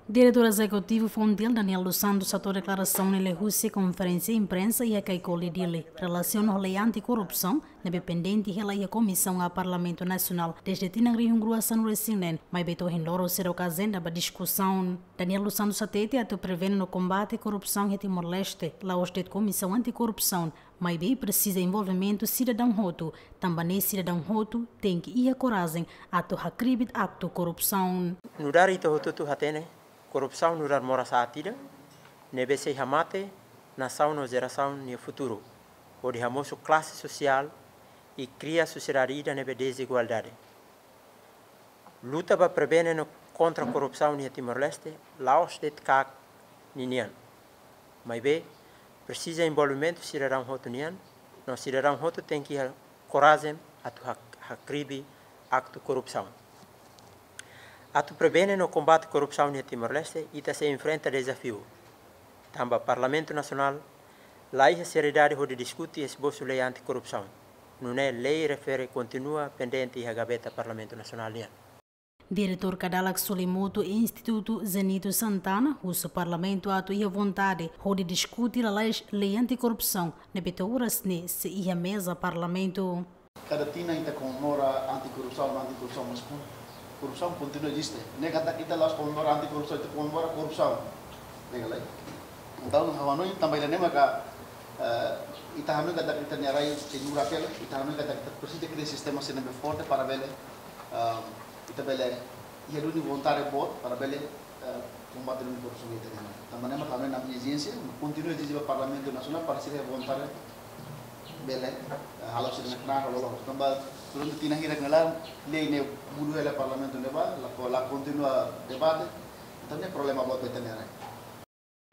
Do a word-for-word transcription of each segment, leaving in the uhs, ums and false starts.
Diretór Ezekutivu Fontil, Daniel dos Santos, hato'o deklarasaun ne'e liuhusi konferénsia imprensa iha Kaikoli, Dili, relasiona ho lei anti-korrupsaun ne'ebé pendente hela iha Komisaun A Parlamentu Nasionál dezde tinan rihun rua sanulu-resin-neen, maibé to'o ohin loron seidauk ajenda ba diskusaun. Daniel dos Santos hatete atu prevene no kombate korrupsaun iha Timor-Leste, la'ós de'it Komisaun Anti-Korrupsaun, maibé presiza envolvimentu sidadaun hotu, tanba ne'e sidadaun hotu tenke iha korajen atu hakribi aktu korrupsaun. Nu'udar ita hotu-hotu hatene, korrupsaun nu'udar moras aat ida ne'ebé sei hamate nasaun no jerasaun nia futuru, hodi hamosu klase sosiál i kria sosiedade ida ne'ebé dezigualdade. Luta ba prevene no kontra korrupsaun iha Timor-Leste la'ós de'it KAK ninian. Maibé presiza envolvimentu sidadaun hotu nian, no sidadaun hotu tenke iha korajen atu hak-, hakribi aktu korrupsaun. Atu prevene no kombate korrupsaun iha Timor-Leste, ita sei enfrenta dezafiu. Tanba Parlamentu Nasionál la iha seriedade hodi diskute esbosu lei anti-korrupsaun. Nune'e lei refere kontinua pendente iha gaveta Parlamentu Nasionál nian. Diretór Kadalak Sulimutu Institutu Zenito Santana husu Parlamentu atu iha vontade hodi diskute lalais lei anti-korrupsaun ne'ebé to'o oras ne'e sei iha meza Parlamentu. Kada tinan ita komemora anti-korrupsaun, anti-korrupsaun, mas kon-, korrupsaun kontinua eziste. Ne'e katak ita la'ós komemora anti-korrupsaun, ita komemora korrupsaun. Ne'e ka lae? Entaun, ha'u hanoin tanba ida-ne'e maka, eh, ita hanoin katak ita-nia rai sei nurak hela, ita hanoin katak ita presiza kria sistema sira ne'ebé forte para bele, eh, ita bele iha duni vontade boot para bele, eh, kombate duni korrupsaun iha ita-nia rai. Tanba ne'e maka ha'u hanoin ami ezije, kontinua ezije ba Parlamentu Nasionál para sira iha vontade bele, eh, halo sira-nia knaar, halo loos. Tanba durante tinan hirak ne'e laran, lei ne'e bolu hela Parlamentu ne'ebá, la ko-, la kontinua debate, entaun ne'e problema boot ba ita-nia rai.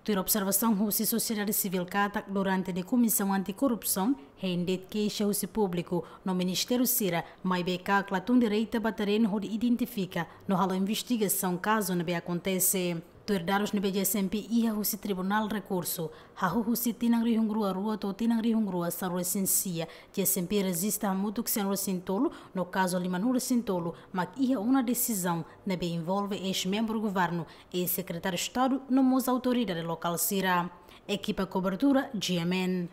Tuir observasaun husi sosiedade sivíl katak durante ne'e Komisaun Anti-Korrupsaun hein de'it keixa husi públiku no ministériu sira, maibé KAK la tun direta ba terrenu hodi identifika no halo investigasaun kazu ne'ebé akontese. Tuir dadus ne'ebé G S M P iha husi Tribunál Rekursu, hahú husi tinan rihun rua rua to'o tinan rihun rua sanulu-resin-sia, G S M P rejista hamutuk sanulu-resin-tolu, no kazu limanulu-resin-tolu mak iha ona desizaun ne'ebé envolve eis-membru governu, eis-sekretáriu Estadu no mós autoridade lokál sira. Ekipa kobertura, G M N.